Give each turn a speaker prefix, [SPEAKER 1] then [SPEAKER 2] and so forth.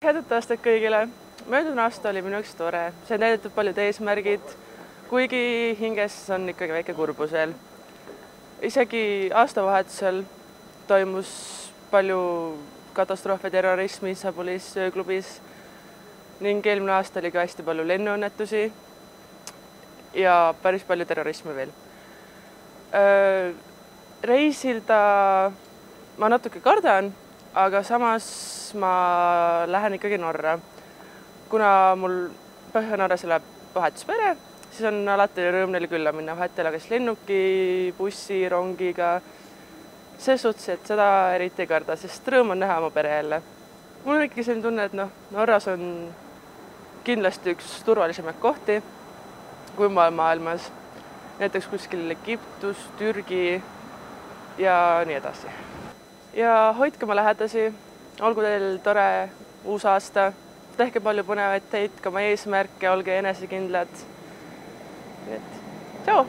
[SPEAKER 1] Head aastat kõigile! Möödunud aasta oli minu jaoks tore. See on täidetud paljud eesmärgid, kuigi hinges on ikkagi väike kurbus veel. Isegi aastavahetusel toimus palju katastroofe, terrorismi Istanbulis ööklubis ning eelmine aasta oli ka hästi palju lennuõnnetusi ja päris palju terrorismi veel. Reisilda ma natuke kardan, aga samas ma lähen ikkagi Norra. Kuna mul Põhja-Norras elab vahetuspere, siis on alati rõõm neile külla minna vahetele kas lennuki, bussi, rongiga. See suhtes, et seda eriti ei karda, sest rõõm on näha oma pere jälle. Mul on ikkagi selline tunne, et Norras on kindlasti üks turvalisemaid kohti kui maailmas. Näiteks kuskil Egiptus, Türgi ja nii edasi. Ja hoidke oma lähedasi, olgu teil tore uus aasta, tehke palju põnevaid teid, ka oma eesmärke, olge enesekindlad. Tšau!